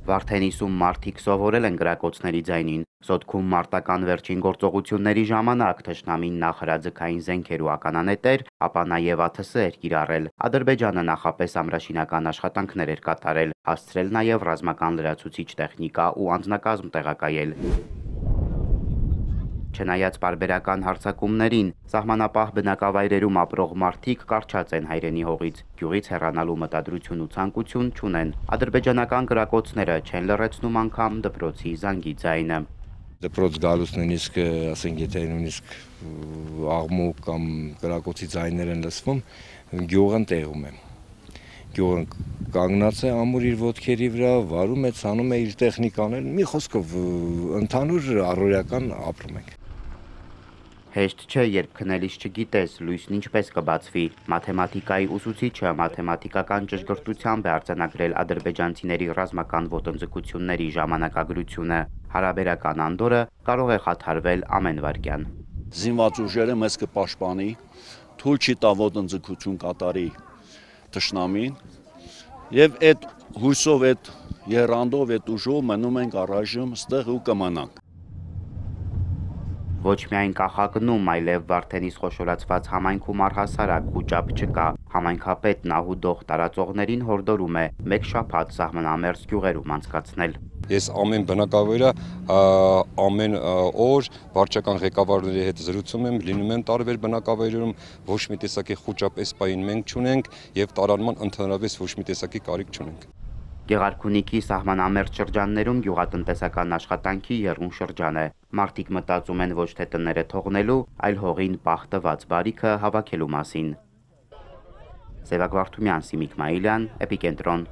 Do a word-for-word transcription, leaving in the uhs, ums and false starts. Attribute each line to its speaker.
Speaker 1: Վարդենիսում մարդիկ սովորել են գրակոծների ձայնին, Սոտքում մարտական վերջին գործողությունների ժամանակ թշնամին նախ հրաձգային զենքեր ու ականանետեր, ապա նաև ԱԹՍ էր կիրառել։ Ադրբեջանը նախապես ամրաշինական աշխատանքներ էր կատարել, հասցրել նաև ռազմական լրացուցիչ տեխնիկա ու անձնակազմ տեղակայել։ Չնայած պարբերական հարձակումներին, սահմանապահ բնակավայրերում ապրող մարդիկ կառչած են հայրենի հողից, գյուղից հեռանալու մտադրություն ու ցանկություն չունեն։ Ադրբեջանական գրակոծները չեն լռեցնում անգամ դպրոցի զանգի ձայնը։
Speaker 2: Դպրոց գալուց նույնիսկ, ասենք, եթե նույնիսկ աղմուկ կամ գրակոծի ձայներ են լսվում, գյուղն տեղում է։ Գյուղն կանգնած է ամուր իր ոտքերի վրա, վարում է, ցանում է իր տեխնիկաները, մի խոսքով ընդհանուր առօրյական ապրում ենք։
Speaker 1: Հեշտ չէ, երբ քնելիս չգիտես, լույսն ինչպես կբացվի։ Մաթեմատիկայի ուսուցիչը մաթեմատիկական ճշգրտությամբ է արձանագրել ադրբեջանցիների ռազմական ոտնձգությունների ժամանակագրությունը։ Հարաբերական անդորը կարող է խաթարվել ամեն վայրկյան։
Speaker 3: Զինված ուժերը մեզ կպաշտպանի, թույլ չի տա ոտնձգություն կատարի թշնամին, եւ այդ հույսով, այդ եռանդով, այդ ուժով մնում ենք առայժմ ստեղ ու կմնանք։
Speaker 1: Ոչ միայն Կախակնում, այլև Վարդենիս խոշորացված համայնքում առհասարակ խուճապ չկա։ Համայնքապետն ահուդող տարածողներին հորդորում է մեկ շաբաթ սահմանամերձ գյուղերում անցկացնել։
Speaker 4: Ես ամեն բնակավայրը ամեն օր վարչական ղեկավարների հետ զրուցում եմ, լինում եմ տարբեր բնակավայրերում, ոչ մի տեսակի խուճապ այս պահին մենք չունենք եւ տարանման ընդհանրապես ոչ մի տեսակի կարիք չունենք։
Speaker 1: Գեղարքունիքի սահմանամերձ շրջաններում գյուղատնտեսական աշխատանքի եռուն շրջան է։ Մարդիկ մտածում են ոչ թե տները թողնելու, այլ հողին պահ տված բարիքը հավաքելու մասին։ Սևակ Վարդումյան, Սիմիկ Մայիլյան, Էպիկենտրոն։